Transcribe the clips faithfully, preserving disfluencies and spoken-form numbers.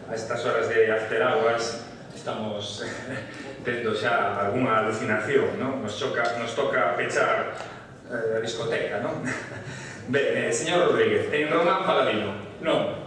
a estas horas de after hours estamos tendo xa algunha alucinación, non? Nos toca pechar a discoteca, non? Ben, señor Rodríguez, en Román Paladino, non,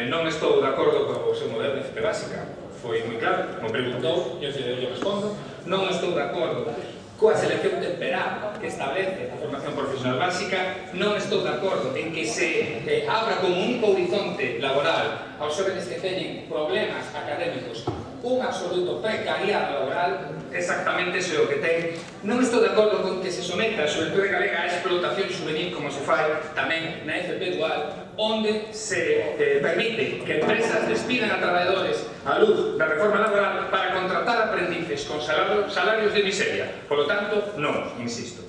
non estou de acordo co seu modelo de F P básica. Foi moi claro, como preguntou, eu respondo, non estou de acordo coa selección temperada que establece a formación profesional básica, non estou de acordo en que se abra como único horizonte laboral aos xóvenes que teñen problemas académicos un absoluto precariado laboral, exactamente iso é o que ten. Non estou de acordo con que se someta a xuventude galega a explotación juvenil como se fai tamén na F P dual, onde se eh, permite que empresas despidan a traballadores á luz da reforma laboral para contratar aprendices con salarios, salarios de miseria. Por lo tanto, non, insisto.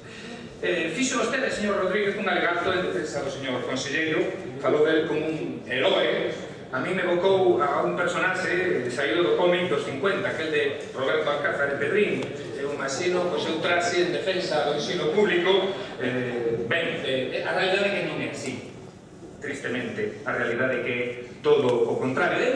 Eh, fixo vostede, señor Rodríguez, un alegato en defensa do señor conselleiro, falou del como un heroe. A mí me evocou a un personaxe saído do cómic dos cincuenta, aquel de Roberto Alcázar de Pedrín. Eu imagino o seu traxe en defensa do ensino público. Eh, ben, eh, a realidade é que non é así. Tristemente, a realidade é que todo o contrario de,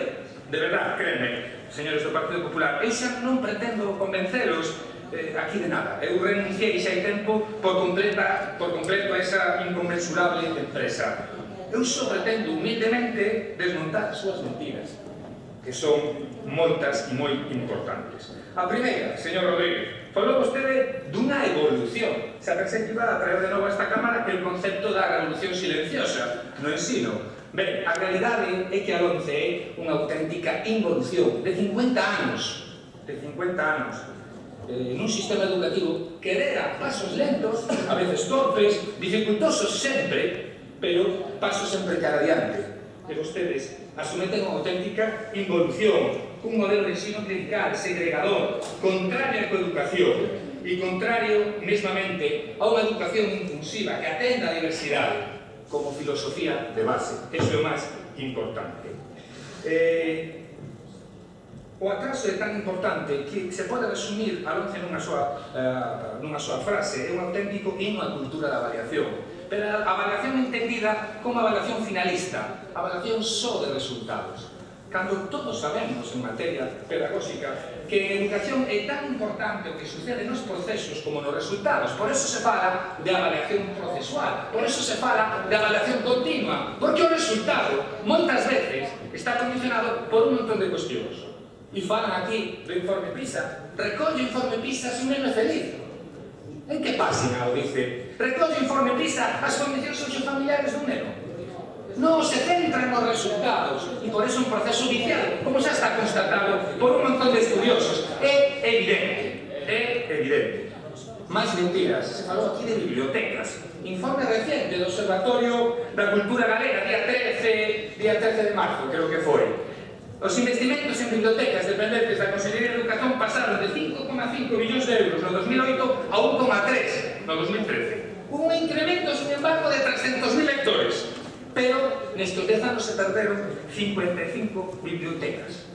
de verdad, créanme, señores do Partido Popular, eu xa non pretendo convencelos eh, aquí de nada. Eu renunciei xa hai tempo por, completa, por completo a esa inconmensurable empresa. Eu só pretendo humildemente desmontar as súas mentiras, que son moitas e moi importantes. A primeira, señor Rodríguez, falou vostede dunha evolución. Se pensei que iba a traer de novo a esta Cámara que el concepto da revolución silenciosa no ensino. Ben, a realidade é que a LOMCE é unha auténtica involución de cincuenta anos, de cincuenta anos, eh, nun sistema educativo que dera pasos lentos, a veces torpes, dificultosos sempre, pero pasos sempre cara adiante. E vostedes asumeten unha auténtica involución, un modelo de ensino clerical, segregador, contrario á coeducación e contrario, mesmamente, a unha educación inclusiva que atenda a diversidade como filosofía de base. Eso é o máis importante. Eh, o atraso é tan importante que se pode resumir a LOMCE nunha súa, uh, nunha súa frase. É un auténtico himno á cultura da avaliación. Pero a avaliación entendida como avaliación finalista, avaliación só de resultados. Cando todos sabemos en materia pedagóxica que en educación é tan importante o que sucede nos procesos como nos resultados. Por eso se fala de avaliación procesual, por eso se fala de avaliación continua, porque o resultado, moitas veces, está condicionado por un montón de cuestións. E falan aquí do informe PISA. Recolle o informe PISA se un neno é feliz. En que página o dice? Recolle o informe PISA as condicións sociofamiliares dun neno. Non se centra nos resultados e por eso un proceso viciado, como xa está constatado por un montón de estudiosos. É evidente, é evidente. Máis mentiras, se falou aquí de bibliotecas. Informe reciente do Observatorio da Cultura Galega, día trece de marzo, creo que foi. Os investimentos en bibliotecas dependentes da Consellería de Educación pasaron de cinco coma cinco millóns de euros no dos mil oito a un coma tres no dos mil trece. Un incremento, sin embargo, de trescentos mil lectores. Pero nestes dez anos se perderon cincuenta e cinco bibliotecas.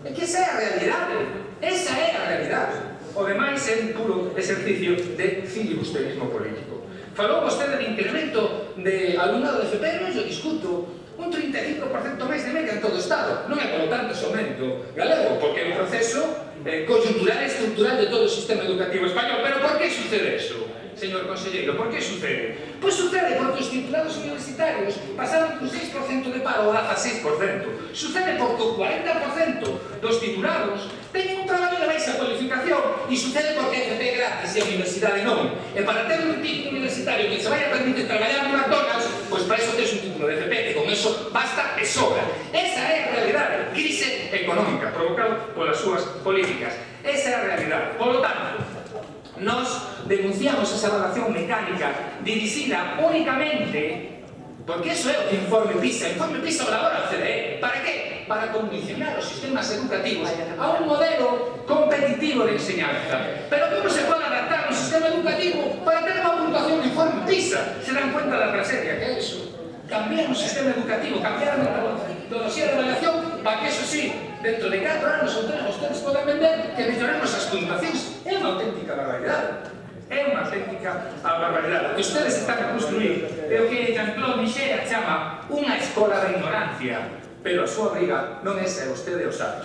É que esa é a realidade. Esa é a realidade. O demais é un puro exercicio de filibusterismo político. Falou vostede de incremento de alumnado de F P, non yo discuto. Un trinta e cinco por cento máis de media en todo o Estado. Non é, polo tanto, somente galego, porque é un proceso eh, coyuntural e estrutural de todo o sistema educativo español. Pero por que sucede eso, señor conselleiro? Por que sucede? Pois sucede porque os titulados universitarios pasaron dun seis por cento de paro a dezaseis por cento. Sucede porque o cuarenta por cento dos titulados teñen un traballo de baixa cualificación e sucede porque F P é gratis e a universidade non. E para ter un título universitario que se vai a permitir traballar no McDonald's, pois para iso tens un título de F P, que con eso basta e sobra. Esa é a realidade. Crise económica provocada polas súas políticas. Esa é a realidade. Por lo tanto, nos denunciamos esa evaluación mecánica dirixida únicamente porque eso é o que informe PISA. O informe PISA elabora a C D E. Para que? Para condicionar os sistemas educativos a un modelo competitivo de enseñanza. Pero como se pode adaptar un sistema educativo para ter unha puntuación de informe PISA? Se dan cuenta da tragedia que é eso. Cambiar o sistema educativo, cambiar a metodoloxía de evaluación para que, eso sí, dentro de catro anos ou tres, vostedes poden vender que melloremos as puntuacións. É unha auténtica barbaridade. É unha auténtica barbaridade. O que ustedes están a construir é o que Jean-Claude Michel chama unha escola da ignorancia. pero a súa obriga non é se vostede o sabe.